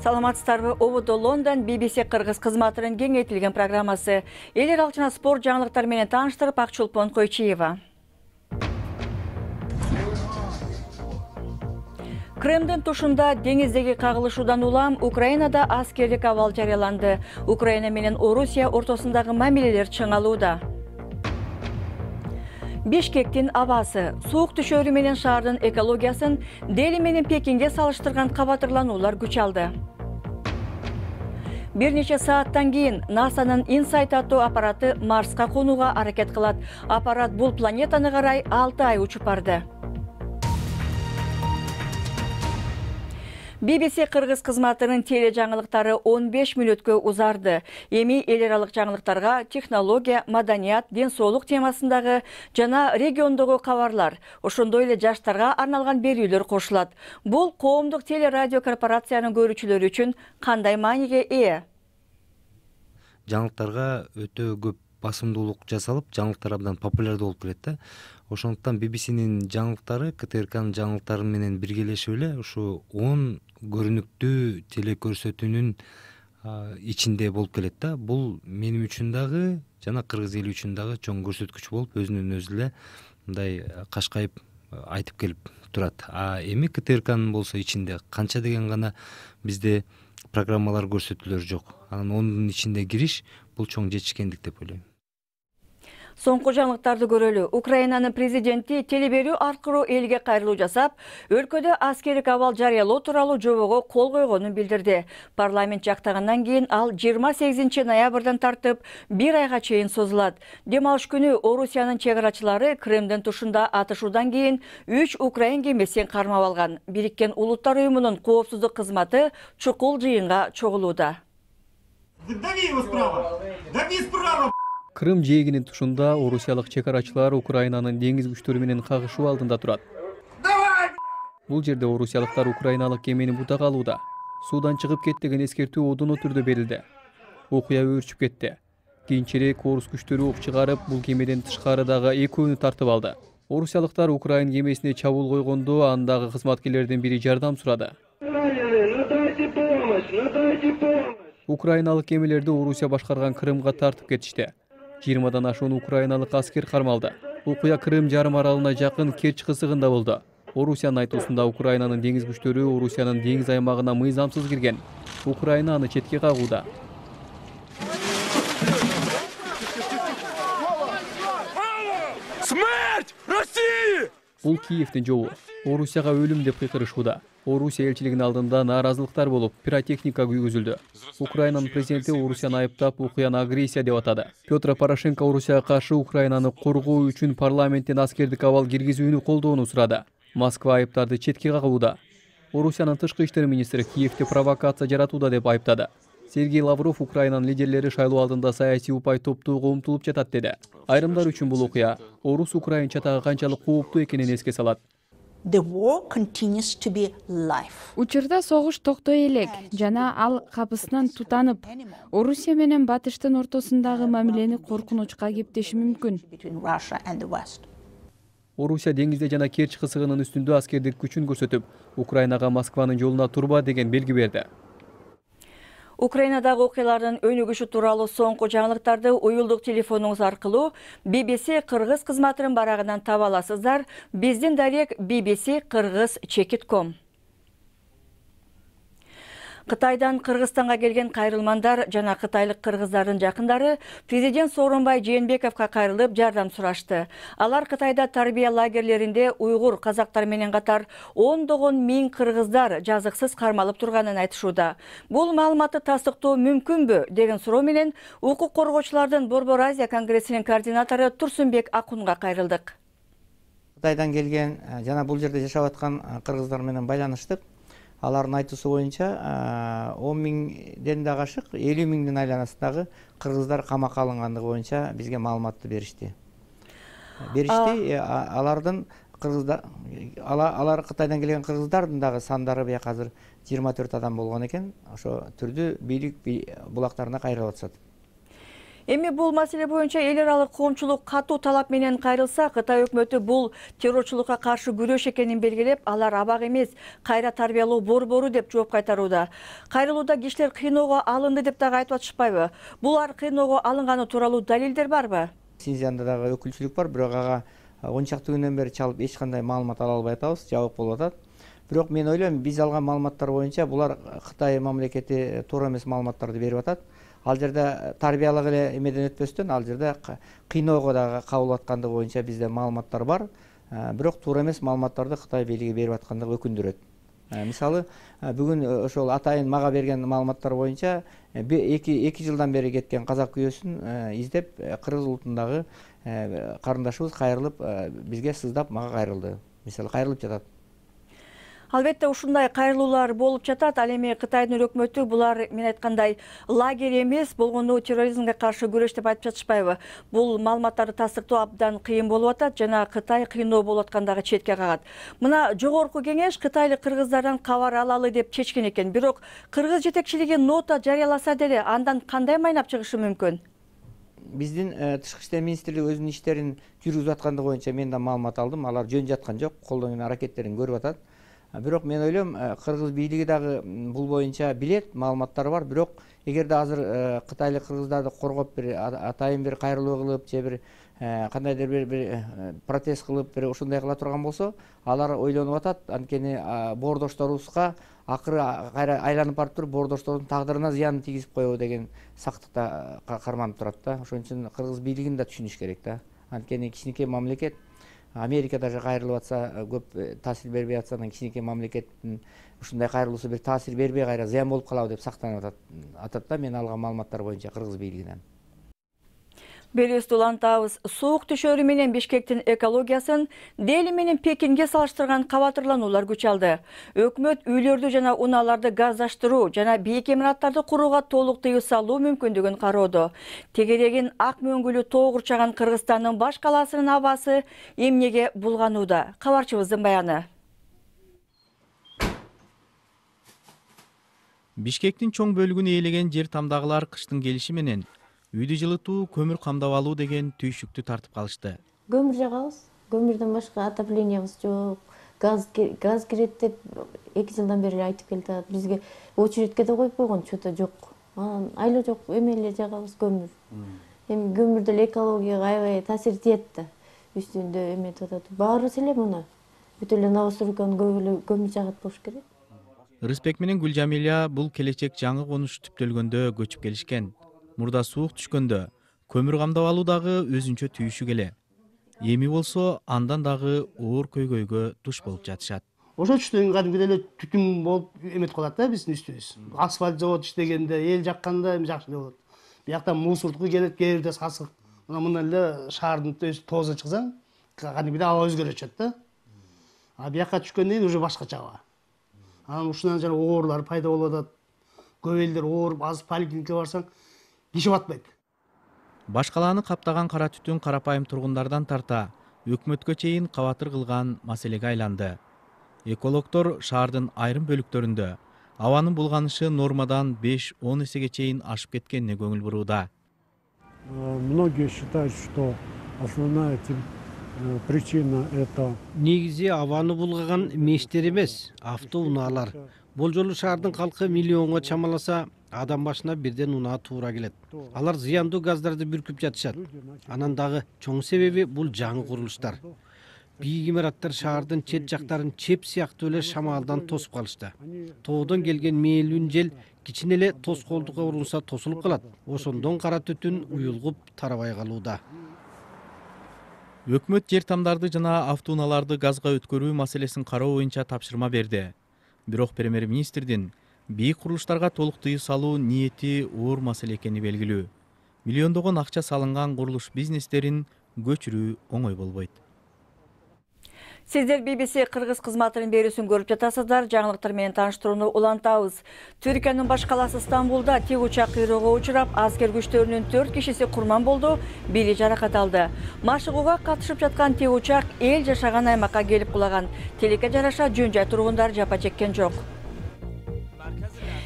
Саламатсыздарбы? Ободо Лондон BBC Кыргыз кызматынын кеңейтилген программасы. Эл аралык жана спорт жаңылыктары менен тааныштырып, Акчулпон Койчиева. Крымдын тушунда деңиздеги кагылышуудан улам Украинада аскерлик абал жарыяланды. Украина менен Орусия ортосундагы мамилелер чыңалууда. Бишкектин абасы, суук түшөрү менен шаардын экологиясын Дели менен Пекинге салыштырган кабатырлануулар күч алды. Бир нече сааттан кийин НАСАнын InSight аттуу аппараты Марска конууга аракет кылат. Аппарат бул планетаны карай 6 ай учуп барды. BBC Кыргыз кызматынын теле жаңылыктары 15 мүнөткө узарды. Эми эл аралык жаңылыктарга технология, маданият, ден соолук темасындагы жана региондогу кабарлар, ошондой эле жаштарга арналган берүүлөр кошулат. Бул коомдук телерадио корпорациянын көрүүчүлөрү үчүн кандай мааниге ээ? Жаңылыктарга өтө көп басымдуулук жасалып, жаңылыктар абдан популярдуу болуп келет да. Ошондуктан BBC'нин жаңылыктары КТРКнын жаңылыктары менен биргелешип эле ушу 10 көрүнүктүү телекөрсөтүүнүн ичинде болуп келет да. Бул менин үчүн дагы жана кыргыз эли үчүн дагы чоң көрсөткүч болуп, өзүнүн өзү эле мындай кашкайып айтып келип турат. Эми КТРКнын болсо ичинде канча деген гана бизде программалар, көрсөтүүлөр жок. Анан онун ичинде кириш бул чоң жетишкендик деп ойлойм. Соңку жаңылыктарды көрөлү. Украинанын президенти телеберүү аркылуу элге кайрылуу жасап, өлкөдө аскерлик абал жарыялоо тууралуу жобого кол койгонун билдирди. Парламент жактагандан кийин ал 28 ноябрдан тартып 1 айга чейин созулат. Дем алыш күнү Орусиянын чек-арачылары Крымдын тушунда атышуудан кийин 3 украин кемесин кармап алган. Бириккен Улуттар уюмунун коопсуздук кызматы чукул жыйынга чогулууда. Крым жээгинин тушунда орусиялык чек-арачылар Украинанын деңиз күчтөрү менен кагышуу алдында турат. Бул жерде орусиялыктар украиналык кемени бутак алууда. Суудан чыгып кет деген эскертүү одоно түрдө берилди. Окуя өөрчүп кетти. Кийинчерээк орус күчтөрү ок чыгарып, бул кемеден тышкарыдагы экөөнү тартып алды. Орусиялыктар Украин кемесине чабуул койгондо андагы кызматкерлерден бири жардам сурады. Украиналык кемелерди Орусия башкарган Крымга тартып кетишти. 20дан ашуун украиналык аскер кармалды. Окуя Крым жарым аралына жакын Керч кысыгында болду. Орусиянын айтуусунда Украинанын деңиз күчтөрү Орусиянын деңиз аймагына мыйзамсыз кирген. Украина аны четке кагууда. Смерть России! Бул Киевдин жобу. Орусияга өлүм деп кыйкырышууда. Орусия элчилигинин алдында нааразылыктар болуп, пиротехника күйгүзүлдү. Украинанын президенти Орусияны айыптап, окуяны агрессия деп атады. Петр Порошенко Орусияга каршы Украинаны коргоо үчүн парламенттен аскердик абал киргизүүнү колдоону сурады. Москва айыптарды четке кагууда. Орусиянын тышкы иштер министри Киевде провокация жаратууда деп айыптады. Сергей Лавров Украинанын лидерлери шайлоо алдында саясий упай топтоого умтулуп жатат деди. Айрымдар үчүн бул окуя орус-украин чатагы канчалык кооптуу экенин эске салат. Учурда согуш токтой элек жана ал капысынан тутанып, Орусия менен Батыштын ортосундагы мамилени коркунучка кептеши мүмкүн. Орусия деңизде жана Керч кысыгынын үстүндө аскердик күчүн көрсөтүп, Украинага Москванын жолуна турба деген белги берди. Украинадагы окуялардын өнүгүшү тууралуу соңку жаңылыктарды уюлдук телефонуңуз аркылуу BBC Кыргыз кызматынын барагынан таба аласыздар. Биздин дарек bbc-kyrgyz.com. Кытайдан Кыргызстанга келген кайрылмандар жана кытайлык кыргыздардын жакындары президент Сооронбай Жээнбековго кайрылып жардам сурашты. Алар Кытайда тарбия лагерлеринде уйгур казактар менен катар ондогон миң кыргыздар жазыксыз кармалып турганын айтышууда. Бул маалыматты тастыктоо мүмкүнбү деген суроо менен укук коргоочулардын Борбор Азия конгрессинин координатору Турсунбек Акунга кайрылдык. Кытайдан келген жана бул жерде жашап аткан кыргыздар менен байланыштык. Алардын айтуусу боюнча 10 миңден да ашык 50 миңдин айланасындагы кыргыздар камакка алынгандыгы боюнча бизге маалыматты беришти. Алардын кыргыздар, алар Кытайдан келген кыргыздардын дагы сандары бияк азыр 24 адам болгон экен. Ошо түрдүү бийлик булактарына кайрылып атышат. Эми бул маселе боюнча эл аралык коомчулук катуу талап менен кайрылса, Кытай өкмөтү бул террорчулукка каршы күрөш экенин белгилеп, алар абак эмес, кайра тарбиялоо борбору деп жооп кайтарууда. Кайрылууда кишилер кыйноого алынды деп дагы айтып атышпайбы? Булар кыйноого алынганы тууралуу далилдер барбы? Синьцзянда дагы өкүлчүлүк бар, бирок ага 10 чакты күндөн бери чалып эч кандай маалымат ала албай атабыз, жабык болуп атат. Бирок мен ойлойм, биз алган маалыматтар боюнча булар Кытай мамлекети туура эмес маалыматтарды берип атат. Ал жерде тарбиялык эле эмеден өтпөстөн, ал жерде кыйноого дагы кабыл аткандыгы боюнча бизде маалыматтар бар. Бирок туура эмес маалыматтарды Кытай бийлиги берип аткандыгы өкүндүрөт. Мисалы, бүгүн ошол атайын мага берген маалыматтар боюнча 2 жылдан бери кеткен казак күйөөсүн издеп, кыргыз улутундагы карындашыбыз кайрылып, бизге сыздап мага кайрылды. Мисалы, кайрылып жатат. Албетте ушундай кайрылуулар болуп жатат. Ал эми Кытайдын өкмөтү булар мен айткандай лагерь эмес, болгону терроризмге каршы күрөш деп айтып жатышпайбы? Бул маалыматтарды тастыктоо абдан кыйын болуп атат жана Кытай кыйноо болуп аткандагы четке кагат. Мына жогорку кеңеш кытайлык кыргыздардан кабар алалы деп чечкен экен. Бирок кыргыз жетекчилиги нота жарыяласа деле андан кандай майнап чыгышы мүмкүн? Биздин тышкы иштер министрлиги өзүнүн иштерин жүргүзүп аткандыгы боюнча мен да маалымат алдым. Алар жөн жаткан жок, колдон келген аракеттерин көрүп атат. Бирок мен ойлойм, кыргыз бийлиги дагы бул боюнча билет, маалыматтары бар. Бирок эгерде азыр кытайлык кыргыздарды коргоп бир атайын бир кайрылуу кылып, же бир кандайдыр бир протест кылып, бир ушундай кыла турган болсо, алар ойлонуп атат. Анткени боордошторубузга акыры кайра айланып барып туруп, боордоштордун тагдырына зыянын тийгизип коебу деген сактыкта карманып турат да. Ошон үчүн кыргыз бийлигин да түшүнүш керек да. Анткени кичинекей мамлекет, Америка даже кайрылып атса, көп таасир бербей атса, анан кичинекей мамлекеттин ушундай кайрылуусу бир таасир бербей кайра зыян болуп калабы деп сактанып атат да, мен алган маалыматтар боюнча кыргыз бийлигинен. Белибизди улантабыз. Суук түшөрү менен Бишкектин экологиясын Дели менен Пекинге салыштырган кабатырлануулар күч алды. Өкмөт үйлөрдү жана унааларды газдаштыруу жана бийик имараттарды курууга толук тыюу салуу мүмкүндүгүн кароодо. Тегерегин ак мөңгүлүү тоо курчаган Кыргызстандын баш калаасынын абасы эмнеге булганууда? Кабарчыбыздын баяны. Бишкектин чоң бөлүгүн ээлеген жер тамдагылар кыштын келиши менен үйдү жылытуу, көмүр камдап алуу деген түйшүктү тартып калышты. Көмүр жагабыз, көмүрдөн башка отоплениябыз жок, газ кирет деп 2 жылдан бери айтып келатат. Бизге очередке да коюп койгон, чото жок. Айло жок, эмелер жагабыз көмүр. Эми көмүр деле экологияга аябай таасир этет да. Үстүндө эметип атат. Баарыбыз эле муну бүт эле Новостройканын көмүр жагат болуш керек. Рыспек менен Гүлжамиля бул келечек жаңы конуш түптөлгөндө көчүп келишкен. Мурда суук түшкөндө көмүр камдап алуу дагы өзүнчө түйүшү келе. Эми болсо андан дагы оор көйгөйгө туш болуп жатышат. Ошо түштөн кадимки эле түтүн болуп эметип калат да биздин үстүбүз. Асфальт завод иштегенде, эл жакканда эми жакшы эле болот. Биякта мусордук келет, кээ бирде сасык. Мындан эле шаардын тоозуна чыксаң, кадимкидей аба өзгөрүп да. А биякка түшкөндөн кийин уже башкача аба. Анан ушундан жана оорлар пайда болуп атат. Көп элдер ооруп, азыр поликлиникага барсаң, киши батпайт. Баш калааны каптаган кара түтүн карапайым тургундардан тарта өкмөткө чейин кабатыр кылган маселеге айланды. Экологдор шаардын айрым бөлүктөрүндө абанын булганышы нормадан 5-10 эсеге чейин ашып кеткенине көңүл бурууда. Многие считают, что основная причина это негизи абаны булгаган мештер эмес, автоунаалар. Бул жолу шаардын калкы миллионго чамаласа, адам башына бирден унаа туура келет. Алар зыяндуу газдарды бүркүп жатышат. Анан дагы чоң себеби бул жаңы курулуштар. Бийик имараттар шаардын чет жактарын чеп сыяктуу эле шамалдан тосуп калышты. Тоодон келген мээлүүн жел кичине эле тоскоолдукка урунса тосулуп калат. Ошондон кара түтүн уюлгуп тарабай калууда. Өкмөт жер тамдарды жана автоунааларды газга өткөрүү маселесин кароо боюнча тапшырма берди. Бирок премьер-министрдин бийик курулуштарга толук тыюу салуу ниети оор маселе экени белгилүү. Миллиондогон акча салынган курулуш бизнестерин көчүрүү оңой болбойт. Сиздер BBC кыргыз кызматынын берүүсүн көрүп жатасыздар. Жаңылыктар менен тааныштырууну улантабыз. Түркиянын баш калаасы Стамбулда тик учак кыйроого учурап, аскер күчтөрүнүн 4 кишиси курман болду, бири жаракат алды. Машыгууга катышып жаткан тик учак эл жашаган аймакка келип кулаган. Тилекке жараша жөн жай тургундар жапа чеккен жок.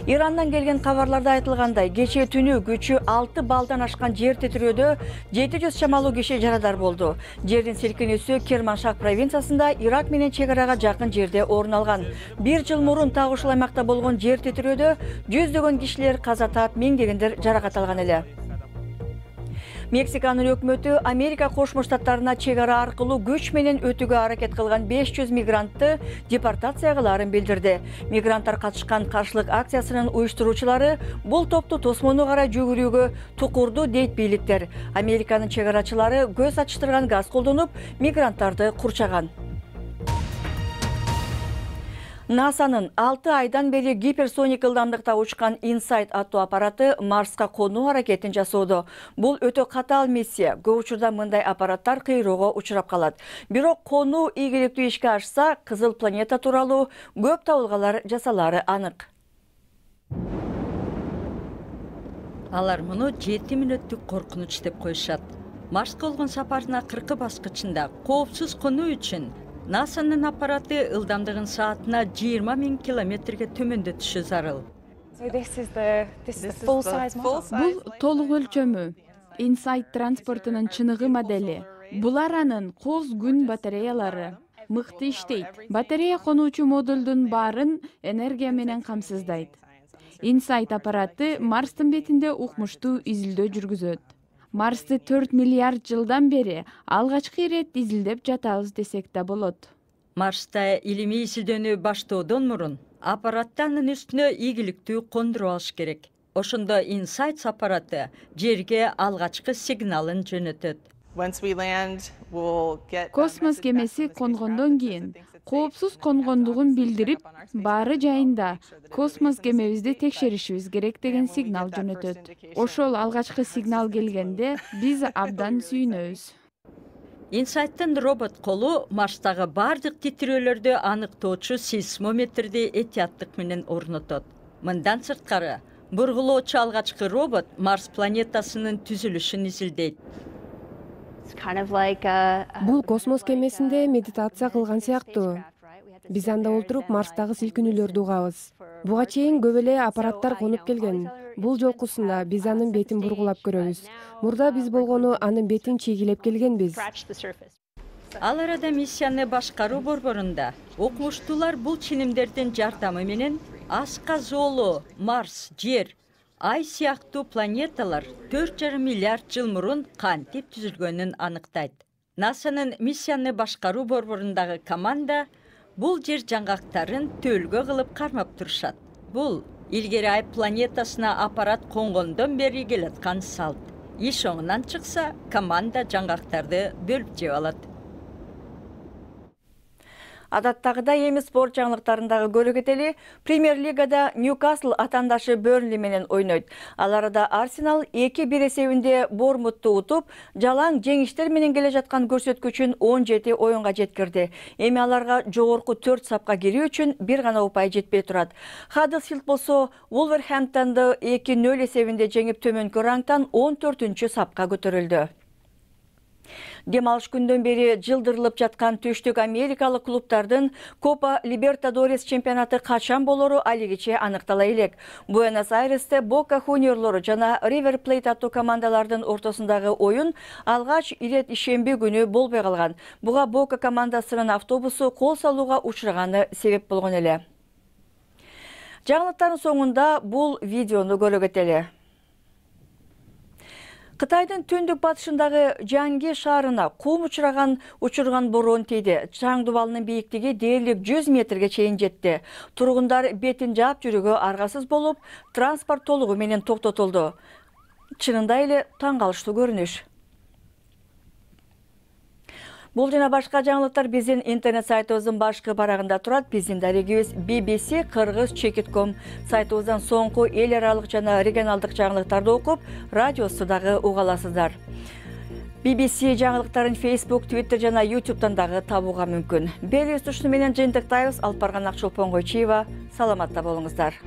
Ирандан келген кабарларда айтылгандай, кечээ түнү күчү 6 балдан ашкан жер титирөөдө 700 чамалуу киши жарадар болду. Жердин силкинүүсү Керманшах провинциясында Ирак менен чек арага жакын жерде орун алган. 1 жыл мурун так ушул аймакта болгон жер титирөөдө жүздөгөн кишилер каза таап, миңдегендер жаракат алган эле. Мексиканын өкмөтү Америка Кошмо Штаттарына чек ара аркылуу күч менен өтүүгө аракет кылган 500 мигрантты депортация кылаарын билдирди. Мигранттар катышкан каршылык акциясынын уюштуруучулары бул топту тосмону карай жүгүрүүгө тукурду дейт бийликтер. Американын чек арачылары көз ачтырган газ колдонуп, мигранттарды курчаган. НАСАнын 6 айдан бери гиперсоник ылдамдыкта учкан InSight аттуу аппараты Марска конуу аракетин жасоодо. Бул өтө катаал миссия. Көп учурда мындай аппараттар кыйроого учурап калат. Бирок конуу ийгиликтүү ишке ашса, кызыл планета тууралуу көп табылгалар жасалары анык. Алар муну 7 мүнөттүк коркунуч деп коюшат. Марска болгон сапарына 40 баскычында коопсуз конуу үчүн НАСАнын аппараты ылдамдыгын саатына 20 000 километрге төмөндөтүшү зарыл. Бул толук өлчөмү InSight транспортунун чыныгы модели. Булар анын коз күн батареялары. Мыкты иштейт. Батарея конуучу модулдун баарын энергия менен камсыздайт. InSight аппараты Марстын бетинде укмуштуу изилдөө жүргүзөт. Марсты 4 миллиард жылдан бери алгачкы ирет изилдеп жатабыз десек да болот. Марста илимий изилдөөнү баштоодон мурун аппаратты анын үстүнө ийгиликтүү кондуруп алыш керек. Ошондо InSight аппараты жерге алгачкы сигналын жөнөтөт. Космос кемеси конгондон кийин коопсуз конгондугун билдирип, баары жайында космос кемебизди текшеришибиз керек деген сигнал жөнөтөт. Ошол алгачкы сигнал келгенде биз абдан сүйүнөбүз. InSight'тын робот колу Марстагы бардык титирөөлөрдү аныктоочу сейсмометрди этияттык менен орнотот. Мындан сырткары, бургулоочу алгачкы робот Марс планетасынын түзүлүшүн изилдейт. Бул космос кемесинде медитация кылган сыяктуу. Биз анда отуруп Марстагы силкинүүлөрдү угабыз. Буга чейин көп эле аппараттар конуп келген. Бул жолкусунда биз анын бетин бургулап көрөбүз. Мурда биз болгону анын бетин чегилеп келгенбиз. Ал арада миссияны башкаруу борборунда окумуштуулар бул ченемдердин жардамы менен Аска Зоолу, Марс, Жер, Ай сыяктуу планеталар 4,5 миллиард жыл мурун кантип түзүлгөнүн аныктайт. НАСАнын миссияны башкаруу борборундагы команда бул жер жаңгактарын төлгө кылып кармап турушат. Бул илгери Ай планетасына аппарат конгондон бери келаткан салт. Иш оңунан чыкса, команда жаңгактарды бөлүп жеп алат. Адаттагыдай эми спорт жаңылыктарындагы көрөгөтели Премьер лигада Ньюкасл атандашы Бернли менен ойнойт. Ал арада Арсенал 2-1 эсебинде Бормутту утуп, жалаң жеңиштер менен келе жаткан көрсөткүчүн 17 оюнга жеткирди. Эми аларга жогорку 4 сапка кирүү үчүн бир гана упай жетпей турат. Хаддерсфилд болсо Вулверхэмптонду 2-0 эсебинде жеңип төмөнкү рангтан 14-чү сапка көтөрүлдү. Дем алыш күндөн бери жылдырылып жаткан түштүк америкалык клубтардын Копа Либертадорес чемпионаты качан болору алигиче аныктала элек. Буэнос-Айресте Бока Хуниорлору жана Ривер Плейт аттуу командалардын ортосундагы оюн алгач ирет ишемби күнү болбой калган. Буга Бока командасынын автобусу кол салууга учураганы себеп болгон эле. Жаңылыктардын соңунда бул видеону көрөгөтели. Кытайдын түндүк батышындагы Жанги шаарына кум учурган бороон тийди. Чаң дубалынын бийиктиги дээрлик 100 метрге чейин жетти. Тургундар бетин жаап жүрүүгө аргасыз болуп, транспорт толугу менен токтотулду. Чынында эле таң калыштуу көрүнүш. Бул жана башка жаңылыктар биздин интернет сайтыбыздын башкы барагында турат. Биздин дарегибиз bbc-kyrgyz.com сайтыбыздан соңку эл аралык жана регионалдык жаңылыктарды окуп, радиосу дагы уга аласыздар. BBC жаңылыктарын Facebook, Twitter жана YouTube'дан дагы табууга мүмкүн. Бери устушуу менен жыйынтыктайбыз. Алып барган Акчолпон Койчиева. Саламатта болуңуздар.